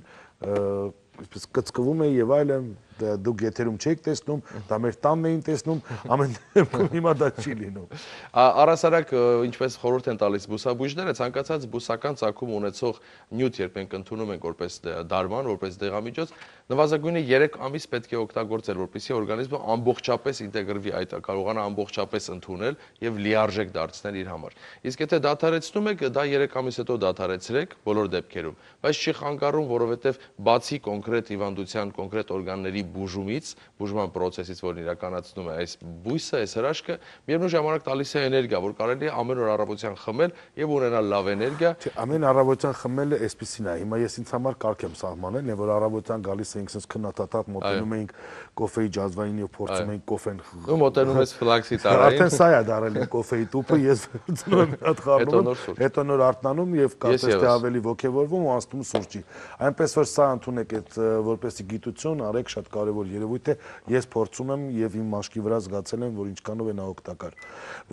այսպես կծկվում է եւ այլն, դուք եթերում չեք տեսնում, դա մեր տանն էին տեսնում, ամեն դեպքում հիմա դա չի լինում։ Առհասարակ ինչպես խորհուրդ են տալիս բուսաբույժները, ցանկացած բուսական ծագում ունեցող նյութ, երբ մենք ընդունում ենք որպես դարման, որպես դեղամիջոց, նվազագույնը 3 ամիս պետք է օգտագործել, որպեսզի օրգանիզմը ամբողջապես ինտեգրվի այդ, կարողանա ամբողջապես ընդունել եւ լիարժեք դարձնել իր համար։ Իսկ եթե դադարեցնում եք, դա 3 ամիս հետո դադարեցրեք բոլոր դեպքերում, բայց չի խանգարում, որովհետեւ բացի կոնկրետ հիվանդության, կոնկրետ օրգանների բուժումից, բուժման process-ից, որն իրականացնում է այս բույսը, այս հրաշքը, միևնույն ժամանակ տալիս է էներգիա, որ կարելի է ամեն օր առավոտյան խմել եւ ունենալ լավ էներգիա։ Ամեն առավոտյան խմելը այսպեսին է։ Հիմա ես ինձ համար կարգ եմ սահմանել, որ առավոտյան գալիս ենք sense քննադատակ մոտենում ենք կոֆեի ջազվային եւ փորձում ենք կոֆեն։ Ու մոտենում ես ֆլաքսի տարային։ Արդեն սա է դարել կոֆեի տուփը, ես վերցնում եմ մի հատ խառնում, հետո նոր արթնանում եւ կարծես թե ավելի ոգևորվում ու անցնում սուրճի։ Այնպես որ սա ընդունեք այդ որպեսի գիտություն, արեք, շատ կարեւոր երևույթ է։ Ես փորձում եմ եւ իմ մաշկի վրա զգացել եմ, որ ինչքանով է նա օգտակար։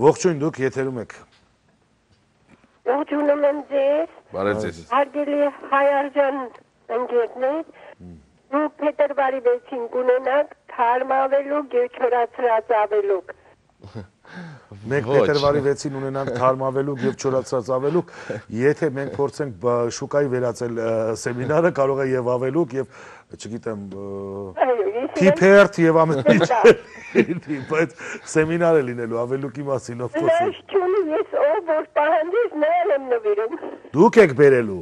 Ողջույն, դուք եթերում եք։ Ողջունում եմ ձեզ։ Բարև ձեզ։ Հարգելի Հայարժան ընկերներ, դուք փետրվարի 6-ին կունենաք թարմավելուկ եւ չորացրած ավելուկ։ Մենք փետրվարի 6-ին ունենանք թարմավելուկ եւ չորացած ավելուկ, եթե մենք փորձենք շուկայի վերածել սեմինարը, կարող է եւ ավելուկ եւ չգիտեմ փիփերթ եւ ամեն ինչ, բայց սեմինարը լինելու ավելուկի մասին ով խոսում։ Լաշչունի ես ով որ պահանջես նրան եմ նվիրում։ Դուք եք բերելու։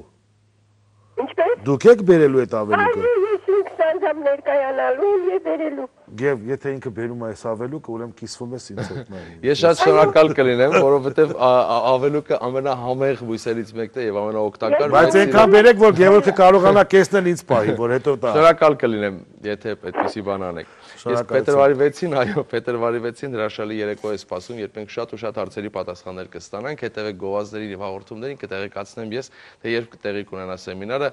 Ինչպես։ Դուք եք բերելու այդ ավելուկը։ Ես ինքս անդամ ներկայանալու եւ բերելու։ Եվ եթե ինքը բերում է այս ավելուկը, ուրեմն կիսվում ես ինձ հետ նայ։ Ես շատ շնորհակալ կլինեմ, որովհետև ավելուկը ամենահամեղ բույսերից մեկն է եւ ամենաօգտակար։ Բայց այնքան բերեք, որ Գևորգը կարողանա կեսնել ինձ պահի, որ հետո տա։ Շնորհակալ կլինեմ, եթե այդպեսի բան անեք։ Ես փետրվարի 6-ին, այո, փետրվարի 6-ին հրաշալի երեկո է սպասում, երբ մենք շատ ու շատ հարցերի պատասխաններ կստանանք, հետևեք գովազդներին եւ հաղորդումներին, կտեղեկացնեմ ես, թե երբ կտեղի կունենա սեմինարը,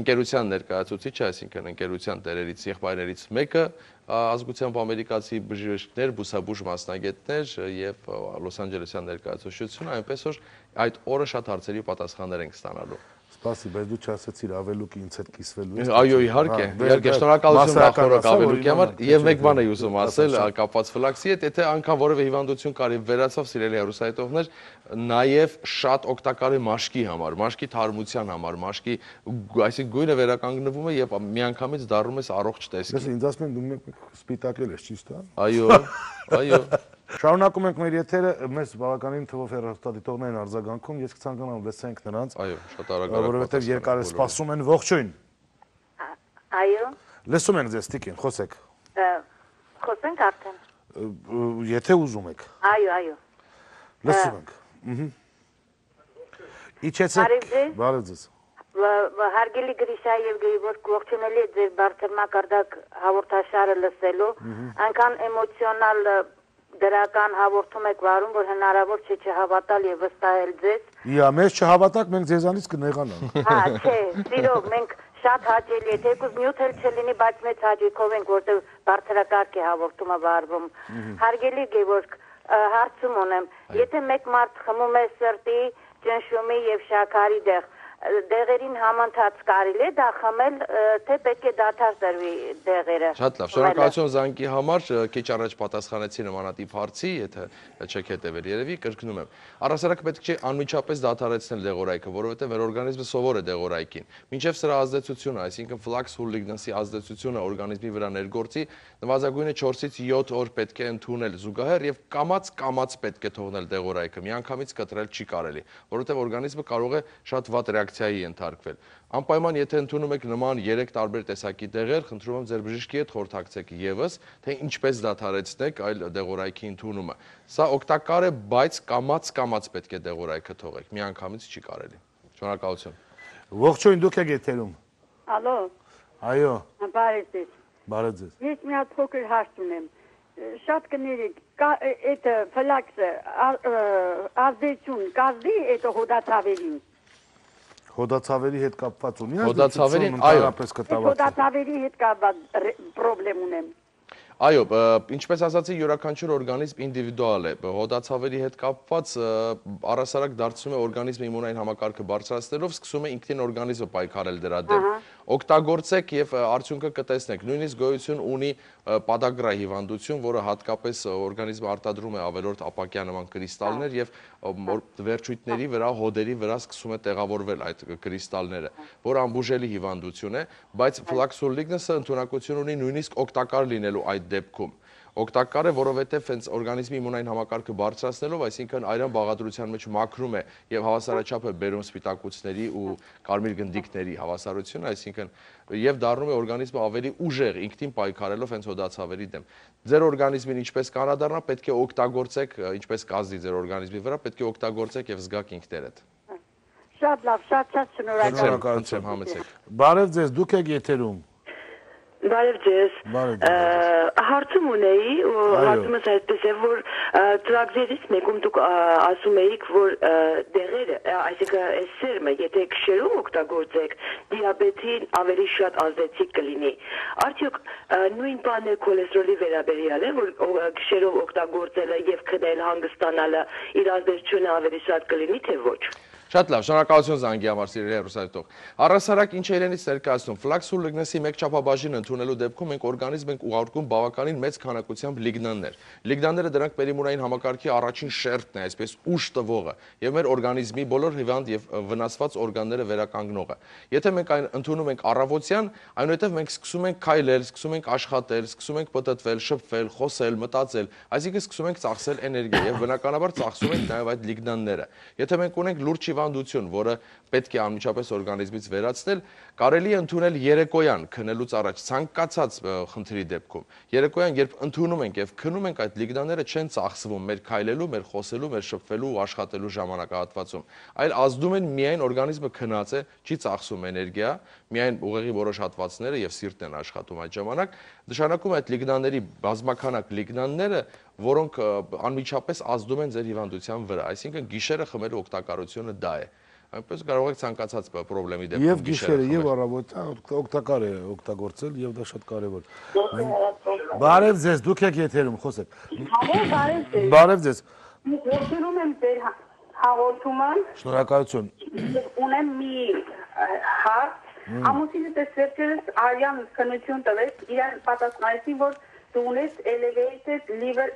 ընկերության ներկայացուցիչը, այսինքն ընկերության տերերից, եղբայրներից մեկը, ազգությամբ ամերիկացի բժիշկներ, բուսաբույժ մասնագետներ եւ Լոս Անջելեսյան ներկայացուցչությունը, այնպես որ այդ օրը շատ հարցերի պատասխաններ ենք ստանալու։ Սպասի, բայց դու չասեցիր ավելուկը ինձ հետ կիսվելու է։ Այո, իհարկե, շնորհակալություն նախորդ ավելուկի համար եւ մեկ բան եմ ուզում ասել կապված ֆլաքսի հետ, եթե անգամ որևէ հիվանդություն կարի վերացավ սիրելի հեռուստադիտողներ, նաեւ շատ օգտակար է մաշկի համար, մաշկի թարմության համար, մաշկի, այսինքն գույնը վերականգնվում է եւ միանգամից դառնում ես առողջ տեսքի։ Ես ինձ ասում են դու մեկ սպիտակել ես, ճիշտ է։ Այո, այո։ Շարունակում ենք մեր եթերը, մեզ բավականին թվով հեռուստադիտողներ են արձագանքում, ես կցանկանամ լսենք նրանց։ Այո, շատ արագ։ Որովհետև երկար է սպասում են, ողջույն։ Այո։ Լսում ենք ձեզ, Տիկին, խոսեք։ Խոսենք արդեն։ Եթե ուզում եք։ Այո, այո։ Լսում ենք։ Իջեցեք։ Բարև ձեզ։ Հարգելի Գրիշա եւ Գևորգ, ողջունելի ձեր բարձր մակարդակ հաղորդաշարը լսելու, այնքան էմոցիոնալ դրական հաղորդում եք վարում, որ հնարավոր չէ չհավատալ եւ վստահել ձեզ։ Իա, մեզ չհավատակ, մենք ձեզանից կնեղանանք։ Հա, չէ, սիրով, մենք շատ հաճելի է, թեկուզ նյութ էլ չլինի, բայց մեծ հաճույքով ենք, որտեղ բարձրակարգ է հաղորդումը վարվում։ Հարգելի Գևորգ, հարցում ունեմ, եթե մեկ մարդ խմում է սրտի, ճնշումի եւ շաքարի դեղերին համընթաց կարելի է դա խմել, թե պետք է դադար տրվի դեղերը։ Շատ լավ, շնորհակալություն զանգի համար, քիչ առաջ պատասխանեցի նմանատիպ հարցի, եթե չեք հետևել երևի, կրկնում եմ։ Առհասարակ պետք չէ անմիջապես դադարեցնել դեղորայքը, որովհետև մեր օրգանիզմը սովոր է դեղորայքին։ Մինչև սրա ազդեցությունը, այսինքն ֆլաքս հուլիգնանսի ազդեցությունը օրգանիզմի վրա ներգործի, նվազագույնը 4-ից 7 օր պետք է ընդունել զուգահեռ եւ կամաց պետք է թողնել դեղորայքը, միանգամից կտրել չի կարելի, որովհետև օրգանիզմը կարող է շատ վատ ռեակցիայի ենթարկվել։ Անպայման եթե ընդունում եք նման 3 տարբեր տեսակի դեղեր, խնդրում եմ ձեր բժշկի հետ խորհրդակցեք եւս, թե ինչպես դադարեցնեք այլ դեղորայքի ընդունումը։ Սա օգտակար է, բայց կամաց պետք է դեղորայքը թողեք, միանգամից չի կարելի։ Շնորհակալություն։ Ողջույն, դուք եք եթերում։ Ալո։ Այո։ Բարև ձեզ։ Բարև ձեզ։ Ես մի հատ փոքր հարց ունեմ։ Շատ կներեք, это ֆլաքսը ազդեցություն կազմի это հոդացավերին։ Հոդացավերի հետ կապված ունի հոդացավերին, այո, հոդացավերի հետ կապված պրոբլեմ ունեմ։ Այո, ինչպես ասացի, յուրաքանչյուր օրգանիզմ ինդիվիդուալ է։ Հոդացավերի հետ կապված առհասարակ դարձնում է օրգանիզմի իմունային համակարգը բարձրացնելով, սկսում է ինքնին օրգանիզմը պայքարել դրա դեմ։ Օգտագործեք եւ արդյունքը կտեսնեք։ Նույնիսկ գոյություն ունի պադագրա հիվանդություն, որը հատկապես օրգանիզմը արտադրում է ավելորդ ապակյա նման կրիստալներ եւ վերջույթների վրա, հոդերի վրա սկսում է տեղավորվել այդ կրիստալները, որը անբուժելի հիվանդություն է, բայց Flaxol lignans-ը ընդունակություն ունի նույնիսկ օգտակար լինելու այդ դեպքում։ Օգտակար է, որովհետև հենց օրգանիզմի իմունային համակարգը բարձրացնելով, այսինքն արյան բաղադրության մեջ մաքրում է եւ հավասարաչափ է բերում սպիտակուցների ու կարմիր գնդիկների հավասարությունը, այսինքն եւ դառնում է օրգանիզմը ավելի ուժեղ ինքնին պայքարելով հենց հոդացավերի դեմ։ Ձեր օրգանիզմին ինչպես կանադառնա, պետք է օգտագործեք, ինչպես կազդի ձեր օրգանիզմի վրա, պետք է օգտագործեք եւ զգաք ինքներդ։ Շատ լավ, շատ շնորհակալ։ Համեցեք։ Բարև ձեզ, դուք եք եթերում։ Բարև ձեզ։ Հարցում ունեի, հարցումս այսպես է, որ ծրագրերից մեկում դուք ասում էիք, որ դեղերը, այսինքն այս սերմը, եթե քշերով օգտագործեք, դիաբետին ավելի շատ ազդեցիկ կլինի։ Արդյոք նույն բանն է քոլեստերոլի վերաբերյալ է, որ քշերով օգտագործելը եւ քնել հանգստանալը իր ազդեցությունը ավելի շատ կլինի, թե ոչ։ Շատ լավ, շնորհակալություն զանգի համար, սիրելի հեռուստադիտող։ Առհասարակ ինչ է իրենից ներկայացնում, Flaxol lignans-ի մեկ չափաբաժին ընդունելու դեպքում մենք օրգանիզմ ենք ուղարկում բավականին մեծ քանակությամբ լիգնաններ։ Լիգնանները դրանք մեր իմունային համակարգի առաջին շերտն է, այսպես ուժ տվողը, եւ մեր օրգանիզմի բոլոր հիվանդ եւ վնասված օրգանները վերականգնողը։ Եթե մենք այն ընդունում ենք առավոտյան, այնուհետև մենք սկսում ենք քայլել, սկսում ենք աշխատել, սկսում ենք պտտվել, շփվել, խոսել, մտածել, այսինքն սկսում ենք ծախսել էներգիա եւ բնականաբար ծախսում ենք նաեւ այդ լիգնանները։ Եթե մենք ունենք լուրջ հիվանդություն, որը պետք է անմիջապես օրգանիզմից վերացնել, կարելի է ընդունել երեկոյան քնելուց առաջ ցանկացած խնդրի դեպքում։ Երեկոյան, երբ ընդունում ենք եւ քնում ենք, այդ լիգնանները չեն ծախսվում մեր քայլելու, մեր խոսելու, մեր շփվելու ու աշխատելու ժամանակահատվածում, այլ ազդում են միայն օրգանիզմը քնած է, չի ծախսում էներգիա, միայն ուղեղի որոշ հատվածները եւ սիրտն են աշխատում այդ ժամանակ, նշանակում է այդ լիգնանների բազմականակ լիգնանները, որոնք անմիջապես ազդում են ձեր հիվանդության վրա, այսինքն գիշերը խմելու օգտակարությունը դա է։ Այնպես կարող եք ցանկացած խնդրի դեպքում եւ գիշերը եւ առավոտյան օգտակար է օգտագործել եւ դա շատ կարեւոր։ Բարև ձեզ, դուք եք եթերում, խոսեք։ Բարև ձեզ։ Ողջունում եմ ձեր հաղորդումը։ Շնորհակալություն։ Ունեմ մի հարց։ Ամուսինս վերջերս արյան քննություն տվեց, իրեն պատասխանեցին, որ դու ունես elevated liver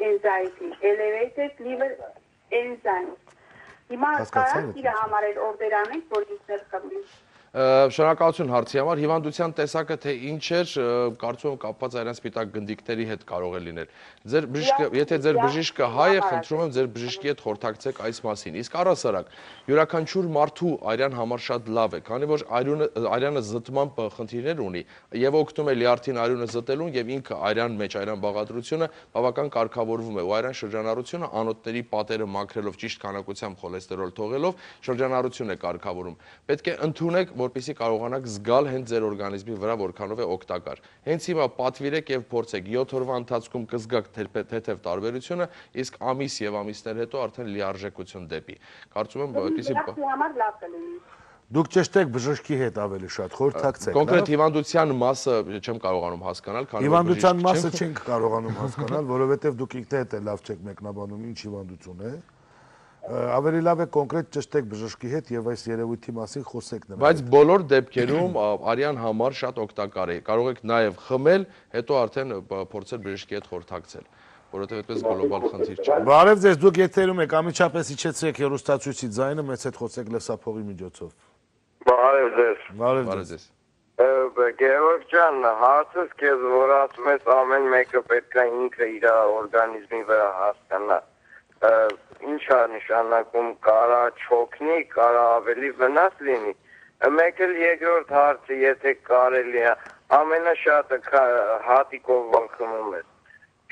anxiety, elevated liver enzyme. Հիմա կարա իր համարել օրդեր անենք, որ ինքներ խմի։ Շնորհակալություն հարցի համար, հիվանդության տեսակը թե ինչ էր, կարծում եմ կապված արյան սպիտակ գնդիկների հետ կարող է լինել։ Եթե ձեր բժիշկը հայ է, խնդրում եմ ձեր բժշկի հետ խորհրդակցեք այս մասին։ Իսկ առհասարակ, յուրաքանչյուր մարդու արյան համար շատ լավ է, քանի որ արյանը զտման խնդիրներ ունի եւ օգնում է լյարդին արյունը զտելուն եւ ինքը արյան մեջ արյան բաղադրությունը բավական կարգավորվում է ու արյան շրջանառությունը անոթների պատերը մաքրելով ճիշտ քանակությամբ խոլեստերոլ թողելով շրջանառություն է կարգավորում։ Պետք է ընդունեք, որպեսզի կարողանաք զգալ հենց ձեր օրգանիզմի վրա որքանով է օգտակար։ Հենց հիմա պատվիրեք եւ փորձեք 7 օրվա ընթացքում կզգաք թեթև տարբերությունը, իսկ ամիս եւ ամիսներ հետո արդեն լիարժեքություն դեպի։ Կարծում եմ այդպեսի համար լավ կլինի։ Դուք ճշտեք բժշկի հետ ավելի շատ խորհրդակցեք։ Կոնկրետ հիվանդության մասը չեմ կարողանում հասկանալ, քանի որ հիվանդության մասը չենք կարողանում հասկանալ, որովհետեւ դուք ինքներդ էլ լավ չեք մեկնաբանում ինչ հիվանդություն է։ Ավելի լավ է կոնկրետ ճշտեք բժշկի հետ եւ այս երևույթի մասին խոսեք նրա հետ։ Բայց բոլոր դեպքերում արյան համար շատ օգտակար է։ Կարող եք նաեւ խմել, հետո արդեն փորձել բժշկի հետ խորհրդակցել, որովհետեւ այդպես գլոբալ խնդիր չէ։ Բարև ձեզ, դուք եթերում եք, ամիջապես իջեցրեք հեռուստացույցի ձայնը, մեծ հետ խոսեք լսափողի միջոցով։ Բարև ձեզ։ Բարև ձեզ։ Գևորգ ջան, հարցս քեզ որ ասում ես ամեն մեկը պետք է ինքը իր օրգանիզմի վրա հասկանա։ Ինչ է նշանակում, կարա չօգնի, կարա ավելի վնաս լինի։ Մեկ էլ երկրորդ հարցը, եթե կարելի է, ամենաշատը հատիկով ոնք խմում ես,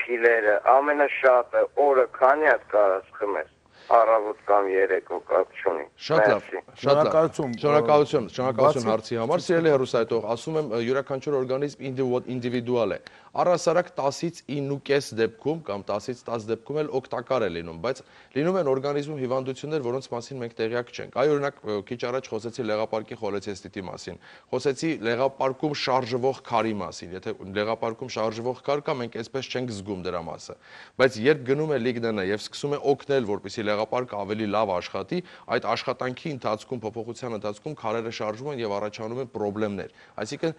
փիլերը, ամենաշատը օրը քանի հատ կարաս խմես։ առավոտ կամ երեկո կապ չունի։ Շատ լավ, շատ լավ։ Շնորհակալություն հարցի համար։ Սիրելի հեռուստայտող, ասում եմ յուրաքանչյուր օրգանիզմ ինդիվիդուալ է։ Առհասարակ 10-ից 9.5 դեպքում կամ 10-ից 10 դեպքում էլ օգտակար է լինում, բայց լինում են օրգանիզմում հիվանդություններ, որոնց մասին մենք տեղյակ չենք։ Այ օրինակ քիչ առաջ խոսեցի լեղապարկի խոլեցեստիտի մասին, խոսեցի լեղապարկում շարժվող քարի մասին։ Եթե լեղապարկում շարժվող քար կա, մենք այսպես չենք զգում դրա մասը։ Բայց երբ գնում է լիգնանը եւ սկսում է օգնել, որպեսզի լեղապարկը ավելի լավ աշխատի, այդ աշխատանքի ընթացքում, փոփոխության ընթացքում քարերը շարժվում են եւ առաջանում են խնդիրներ։ Այսինքն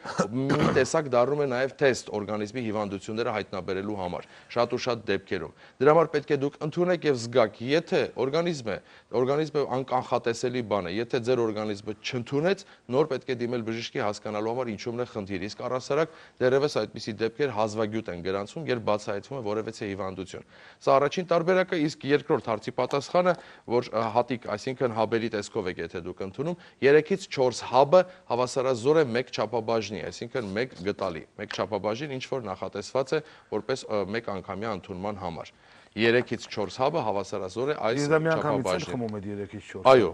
մի տեսակ դառնում է նաեւ թեստ օրգանիզմի հիվանդությունները հայտնաբերելու համար, շատ ու շատ դեպքերում։ Դրա համար պետք է դուք ընդունեք եւ զգաք, եթե օրգանիզմը անկանխատեսելի բան է, եթե ձեր օրգանիզմը չընդունեց, նոր պետք է դիմել բժշկի հասկանալու համար ինչումն է խնդիրը։ Իսկ առհասարակ դեռևս այդպիսի դեպքեր հազվագյուտ են գրանցվում, երբ բացահայտվում է որևէ հիվանդություն։ Սա առաջին տարբերակը, իսկ երկրորդ հարցի պատասխանը, որ հատիկ, այսինքն հաբերի տեսքով եք եթե դուք ընդունում, 3-ից 4 հաբը հավասարազոր է 1 չափաբաժնի, այսինքն 1 գտալի, 1 չափաբաժին ինչ որ նախատեսված է որպես 1 անգամյա ընդունման համար։ 3-ից 4 հաբը հավասարազոր է այս չափաբաժնին։ Խմում եք 3-ից 4։ Այո,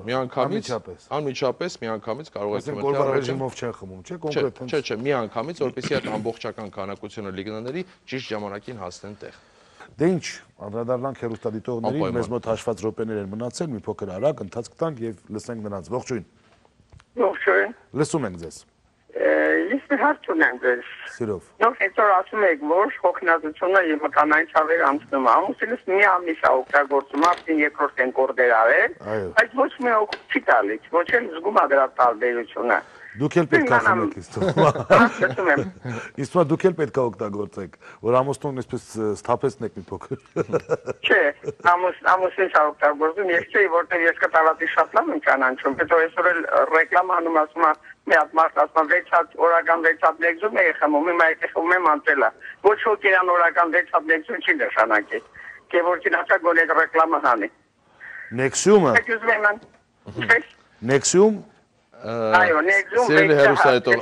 անմիջապես միանգամից կարող եք խմել։ Գորբալ ռեժիմով չեն խմում, չէ՞, կոնկրետ։ Չէ, միանգամից, որպեսզի այդ ամբողջական քանակությունը լիգնաների ճիշտ ժամանակին հասնեն տեղ։ Դե ինչ, անդրադառնանք հեռուստադիտողներին, մեզ մոտ հաշված րոպեներ են մնացել, մի փոքր արագ ընթացք տանք եւ լսենք նրանց։ Ողջույն։ Ողջույն։ Լսում ենք ձեզ։ Ես մի հարց ունեմ ձեզ։ Սիրով։ Նոր այսօր ասում եք, որ հոգնածությունը եւ մկանային ցավեր անցնում է։ Ամուսինս մի ամիս է օգտագործում, արդեն երկրորդ են կորդեր արել, բայց ոչ մի օգուտ չի տալիս, ոչ էլ զգում է դրա տարբերությունը։ Դուք էլ պետք է խմեք իսկ դուք էլ պետք է օգտագործեք, որ ամուսնուն այսպես սթափեցնեք մի փոքր։ Չէ, ամուսինս օգտագործում, ես չէի, որտեղ ես կտավատի շատ լավ եմ ճանաչում, հետո այսօր էլ ռեկլաման ասում է մի հատ մարդ ասում է 6 հատ օրական 6 հատ լեգզում է խմում, հիմա եթե խմում եմ անտելա։ Ոչ ոք իրան օրական 6 հատ լեգզում չի նշանակի։ Կեվորքին ասա գոլեգ ռեկլամը հանի։ Նեքսիումը։ Նեքսիում Այո, նեգզում Սիրելի հեռուստայտող,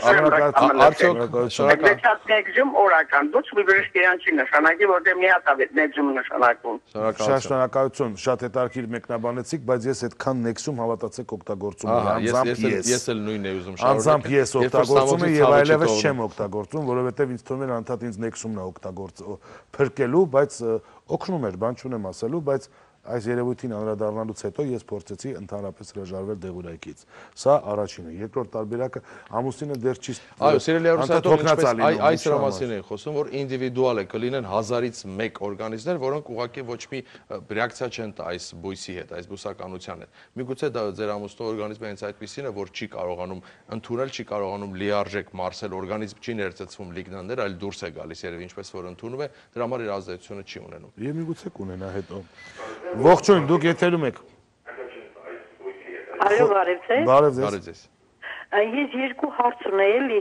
արդյոք շնորհակալ նեգզում օրական, ոչ մի բժիշկ իրան չի նշանակի, որտեղ մի հատ է նեգզում նշանակում։ Շատ շնորհակալություն, շատ հետաքրքիր մեկնաբանեցիք, բայց ես այդքան նեգզում հավատացեք օգտագործում եմ, անձամբ ես էլ նույնն եմ ուզում շարունակել։ Անձամբ ես օգտագործում եմ եւ այլևս չեմ օգտագործում, որովհետեւ ինձ թվում է անդադ ինձ նեգզումն է օգտագործում փրկելու, բայց օգնում էր, բան չունեմ ասելու, բայց այս երևույթին անդրադառնալուց հետո ես փորձեցի ընդհանրապես հրաժարվել դեղուրայքից։ Սա առաջինը, երկրորդ տարբերակը ամուսինը դեռ չի։ Այո, սիրելի հեռուստայտող, այս դրա մասին են խոսում, որ ինդիվիդուալ է, կլինեն 1000-ից 1 օրգանիզմներ, որոնք ուղղակի ոչ մի ռեակցիա չեն տա այս բույսի հետ, այս բուսականության հետ։ Միգուցե դա ձեր ամուսնու օրգանիզմը հենց այդպիսին է, որ չի կարողանում ընդունել, չի կարողանում լիարժեք մարսել, օրգանիզմ չի ներծծվում լիգնաններ, այլ դուրս է գալիս երևի ինչպես որ ընդունում է, դրա համար իր ազդեցությունը չի ունենում։ Եվ միգուցե կունենա հետո։ Ողջույն, դուք եթերում եք։ Այո, բարև ձեզ։ Բարև ձեզ։ Ես երկու հարց ունեի, էլի,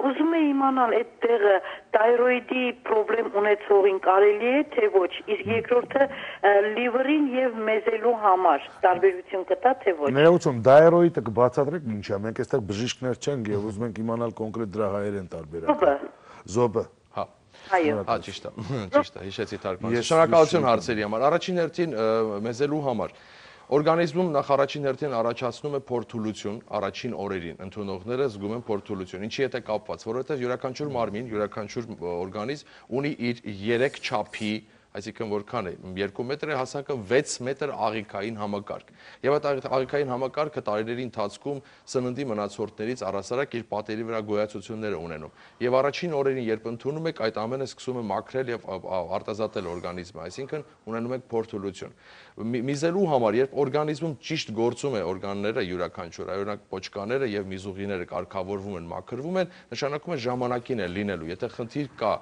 ուզում եմ իմանալ այդ տեղը թայրոիդի խնդրեմ ունեցողին կարելի է թե ոչ, իսկ երկրորդը լիվերին եւ մեզելու համար տարբերություն կտա թե ոչ։ Ներողություն, թայրոիդը կբացատրեք ինչա, մենք այստեղ բժիշկներ չենք եւ ուզում ենք իմանալ կոնկրետ դրա հայերեն տարբերակը։ Զոբը։ Այո։ Ճիշտ է, հիշեցի թարգմանել։ Շնորհակալություն հարցերի համար։ Առաջին հերթին մեզելու համար օրգանիզմում նախ առաջին հերթին առաջացնում է փորթուլություն առաջին օրերին։ Ընդունողները զգում են փորթուլություն։ Ինչի հետ է կապված, որովհետև յուրաքանչյուր մարմին, յուրաքանչյուր օրգանիզմ ունի իր 3 չափի, այսինքն որքան է 2 մետր է հասակը 6 մետր աղիքային համակարգ։ Եվ այդ աղիքային համակարգը տարիների ընթացքում սննդի մնացորդներից առհասարակ իր պատերի վրա գոյացություններ է ունենում։ Եվ առաջին օրերին, երբ ընդունում եք, այդ ամենը սկսում է մաքրել եւ արտազատել օրգանիզմը, այսինքն ունենում եք փորթուլություն։ Միզելու համար, երբ օրգանիզմում ճիշտ գործում է օրգանները յուրաքանչյուր, օրինակ պոչկաները եւ միզուղիները կարգավորվում են, մաքրվում են, նշանակում է ժամանակին է լինելու։ Եթե խնդիր կա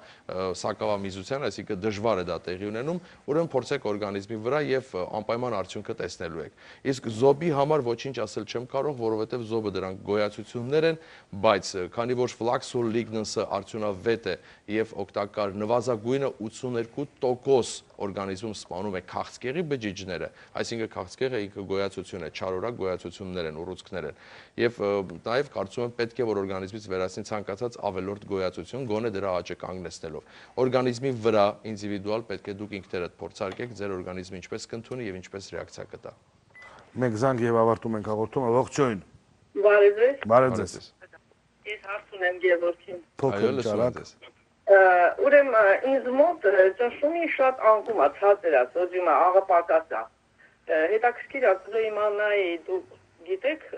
սակավամիզության, այսինքն դժվար է դա տեղի ունենում, ուրեմն փորձեք օրգանիզմի վրա եւ անպայման արդյունքը տեսնելու եք։ Իսկ զոբի համար ոչինչ ասել չեմ կարող, որովհետեւ զոբը դրանք գոյացություններ են, բայց քանի որ ֆլաքսոլ լիգնանսը արդյունավետ է եւ օգտակար, նվազագույնը 82% օրգանիզմում սպանում է քաղցկեղի բջիջները, այսինքն քաղցկեղը ինքը գոյացություն է, չարորակ գոյացություններ են, ուռուցքներ են։ Եվ նաև կարծում եմ պետք է որ օրգանիզմից վերացնի ցանկացած ավելորդ գոյացություն, գոնե դրա աճը կանգնեցնելով։ Օրգանիզմի վրա ինդիվիդուալ պետք է դուք ինքներդ փորձարկեք ձեր օրգանիզմը ինչպես կընդունի եւ ինչպես ռեակցիա կտա։ Մենք զանգ եւ ավարտում ենք հաղորդումը, ողջույն։ Բարև ձեզ։ Բարև ձեզ։ Ես հարց ունեմ Գևորգին։ Փոքր ճարակ։ Ուրեմն ինձ մոտ ճնշումի շատ անկում է, ցածր է, սոդիումը աղը պակաս է։ Հետաքրքիր է իմանայի դուք գիտեք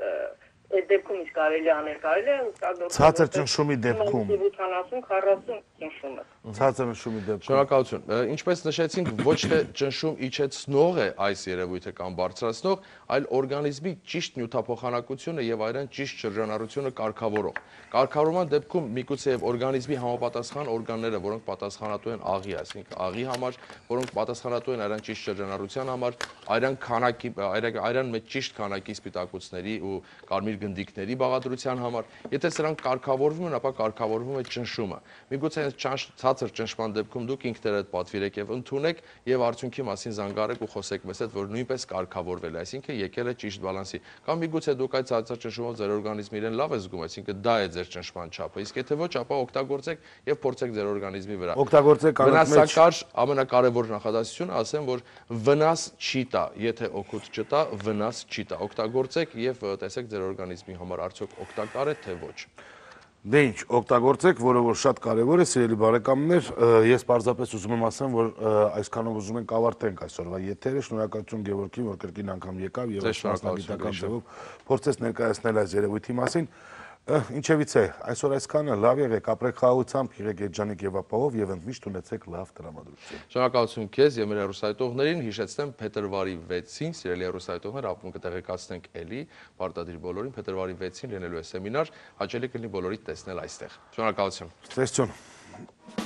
այդ դեպքում ինչ կարելի անել, կարելի է օգտագործել Ցածր ճնշումի դեպքում 70-40 ճնշումը։ Ցածր ճնշումի դեպքում Շնորհակալություն։ Ինչպես նշեցինք, ոչ թե ճնշում իջեցնող է այս երևույթը կամ բարձրացնող, այլ օրգանիզմի ճիշտ նյութափոխանակությունը եւ այրան ճիշտ շրջանառությունը կարգավորող։ Կարգավորման դեպքում միգուցե եւ օրգանիզմի համապատասխան օրգանները, որոնք պատասխանատու են աղի, այսինքն աղի համար, որոնք պատասխանատու են այրան ճիշտ շրջանառության համար, այրան քանակի, այրան մեջ ճիշտ քանակի սպիտակուցների ու կարմիր գնդիկների բաղադրության համար, եթե սրանք կարգավորվում են, ապա կարգավորվում է ճնշումը։ Միգուցե ցածր ճնշման դեպքում դուք ինքներդ պատվիրեք եւ ընդունեք եւ արդյունքի մասին զանգարեք ու խոսեք մեզ հետ, որ նույնպես կարգավորվել է, այսինքն եկել է ճիշտ բալանսի։ Կամ միգուցե դուք այդ ցածր ճնշումով ձեր օրգանիզմը իրեն լավ է զգում, այսինքն դա է ձեր ճնշման չափը։ Իսկ եթե ոչ, ապա օգտագործեք եւ փորձեք ձեր օրգանիզմի վրա։ Օգտագործեք Վնասակար ամենակարևոր նախադասությունը ասեմ, որ վնաս չի տա, եթե օգուտ չտա, վնաս չի տա։ Օգտագործեք եւ տեսեք ձեր օրգանիզմի համար արդյոք օգտակար է թե ոչ։ Դե ինչ, օգտագործեք, որը որ շատ կարևոր է, սիրելի բարեկամներ, ես պարզապես ուզում եմ ասեմ, որ այսքանով ուզում ենք ավարտենք այսօրվա եթերը, շնորհակալություն Գևորգին, որ կրկին անգամ եկավ եւ մասնագիտական ձևով փորձեց ներկայացնել այս երևույթի մասին։ Ինչևից է, այսօր այսքանը, լավ եղեք, ապրեք խաղաղությամբ, եղեք երջանիկ եւ ապահով եւ ընդմիշտ ունեցեք լավ տրամադրություն։ Շնորհակալություն քեզ եւ մեր հեռուստայտողներին, հիշեցնեմ փետրվարի 6-ին, սիրելի հեռուստայտողներ, ապա կտեղեկացնենք էլի, պարտադիր բոլորին, փետրվարի 6-ին լինելու է սեմինար, հաճելի կլինի բոլորիդ տեսնել այստեղ։ Շնորհակալություն։ Ցտեսություն։